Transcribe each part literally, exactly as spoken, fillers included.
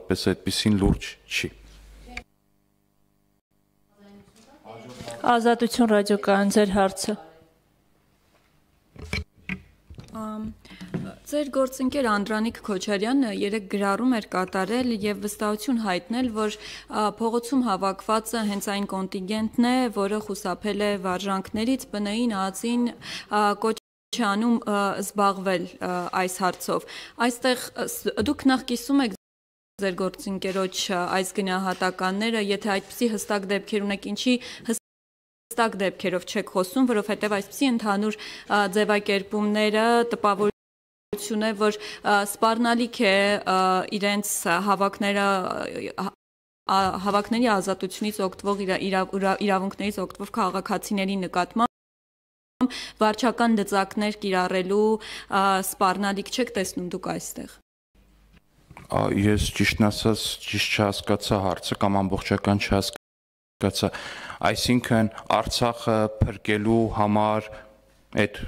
որպես այդպեսին լուրջ չի։ Ազատություն ռադիոկայան, ձեր հարցը։ Ձեր գործընկեր Անդրանիկ Քոչարյանը երեք գրառում էր կատարել եւ վստահություն հայտնել, որ փողոցում հավաքվածը հենց այն կոնտինգենտն է, որը խուսափել է վարժանքներից, բնային ածին կոչ է անում զբաղվել այս հարցով։ Այստեղ դուք նախ կիսում եք ձեր գործընկերոջ այս գնահատականները, եթե այդպիսի հստակ դեպքեր ունեք, ինչի հստակ դեպքերով չեք խոսում, որովհետև այսպիսի ընդհանուր ձևակերպումները տպավորություն է, որ սպառնալիք է իրենց հավաքները հավաքների ազատությունից օգտվող իրավունքներից օգտվող քաղաքացիների նկատմամբ վարչական դծակներ կիրառելու սպառնալիք չեք տեսնում դուք այստեղ։ Ես ճիշտն ասած ճիշտ չհասկացա հարցը կամ ամբողջական չհասկացա, այսինքն Արցախը փրկելու համար այդ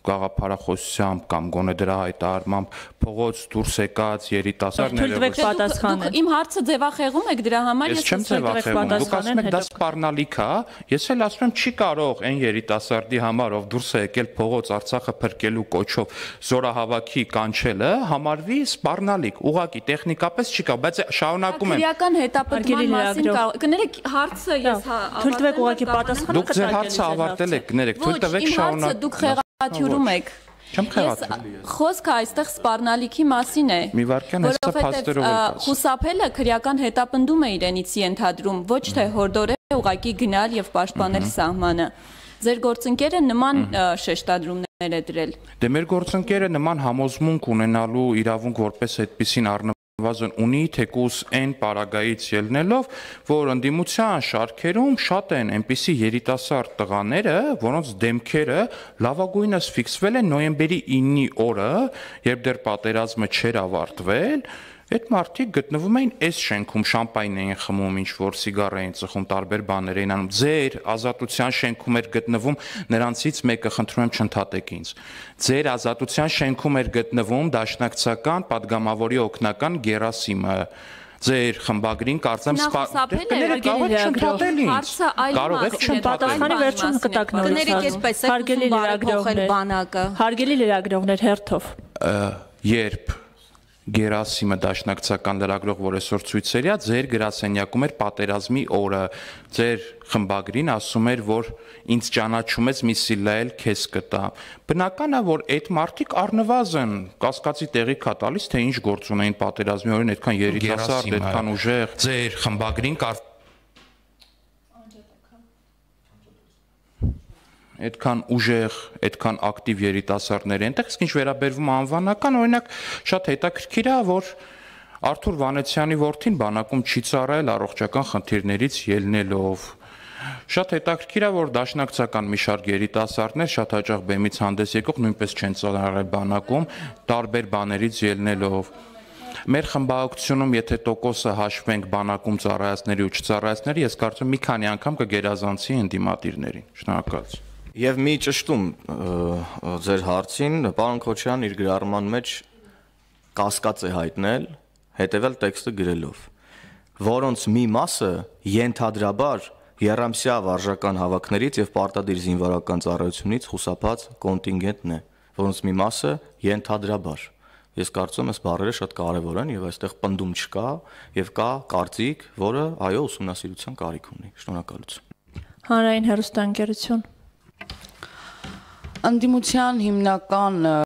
գաղափարախոսությամբ կամ գոնե դրա հայտարարմամբ փողոց դուրս եկած երիտասարդները Դուք իմ հարցը ձևախեղում եք դրա համար ես չեմ ձևախեղում, դուք ասում եք դա սպառնալիք է, ես էլ ասում եմ չի կարող այն երիտասարդի համար, ով դուրս է եկել փողոց Արցախը փրկելու կոչով զորահավաքի կանչելը համարվի սպառնալիք, ուղղակի տեխնիկապես չի կարող, բայց շարունակում եմ Քրեական հետապնդման մասին կներեք հարցը ես թույլ տվեք ուղղակի պատասխանը Դուք ձեր հարցը ավարտել եք, կներեք, թույլ տվեք շարունակել Աթյուրում եք։ Չեմ խեղաթյուրում։ Խոսքը այստեղ սպառնալիքի մասին է։ Մի վարքյան հեսա փաստերով էլ կաս։ Խուսափելը քրեական հետապնդում է իրենից ենթադրում, ոչ թե հորդորել ուղղակի գնալ եւ պաշտպանել սահմանը։ Ձեր գործընկերը նման շեշտադրումներ է դրել։ Դե մեր գործընկերը նման համոզմունք ունենալու իրավունք որպես այդպեսին առնվազն ունի, թեկուզ այն պարագայից ելնելով, որ ընդդիմության շարքերում շատ են այնպիսի երիտասարդ տղաները, որոնց դեմքերը լավագույնս ֆիքսվել են նոյեմբերի իննի օրը, երբ դեռ պատերազմը չէր ավարտվել, այդ մարդիկ գտնվում էին այս շենքում, շամպայն էին խմում, ինչ որ սիգար էին ծխում, տարբեր բաներ էին անում։ Ձեր ազատության շենքում էր գտնվում, նրանցից մեկը խնդրում եմ չընդհատեք ինձ։ Ձեր ազատության շենքում էր գտնվում դաշնակցական падգամավորի օգնական Գերասիմը։ Ձեր խմբագրին կարծեմ կարող եք չընդհատել վերջում կտակ նորից հարգելի լրագրողներ հարգելի լրագրողներ հերթով երբ Գերասիմը դաշնակցական լրագրող, որ այսօր ցույցեր է, ձեր գրասենյակում էր պատերազմի օրը, ձեր խմբագրին ասում էր, որ ինձ ճանաչում ես, մի սիլայել քեզ կտա։ Բնական է, որ այդ մարդիկ առնվազն կասկածի տեղիք է տալիս, թե ինչ գործ ունեին պատերազմի օրին, այդքան երիտասարդ, այդքան ուժեղ, ձեր խմբագրին կար այդքան ուժեղ, այդքան ակտիվ երիտասարդներ են, այնտեղ ինչ վերաբերվում անվանական, օրինակ շատ հետաքրքիր է, որ Արթուր Վանեցյանի որդին բանակում չի ծառայել առողջական խնդիրներից ելնելով։ Շատ հետաքրքիր է, որ դաշնակցական մի շարք երիտասարդներ շատ հաճախ բեմից հանդես եկող նույնպես չեն ծառայել բանակում, տարբեր բաներից ելնելով։ Մեր խմբակցությունում, եթե տոկոսը հաշվենք բանակում ծառայածների ու չծառայածների, ես կարծում եմ մի քանի անգամ կգերազանցի ընդդիմադիրներին։ Շնորհակալություն։ Եվ մի ճշտում ձեր հարցին, պարոն Քոչարյան իր գրառման մեջ կասկած է հայտնել հետևյալ տեքստը գրելով, որոնց մի մասը ենթադրաբար եռամսյա վարժական հավաքներից եւ պարտադիր զինվորական ծառայությունից խուսափած կոնտինգենտն է, որոնց մի մասը ենթադրաբար։ Ես կարծում եմ, այս բառերը շատ կարևոր են եւ այստեղ պնդում չկա եւ կա կարծիք, որը այո ուսումնասիրության կարիք ունի։ Շնորհակալություն։ Հանրային հեռուստաընկերություն Ընդդիմության հիմնական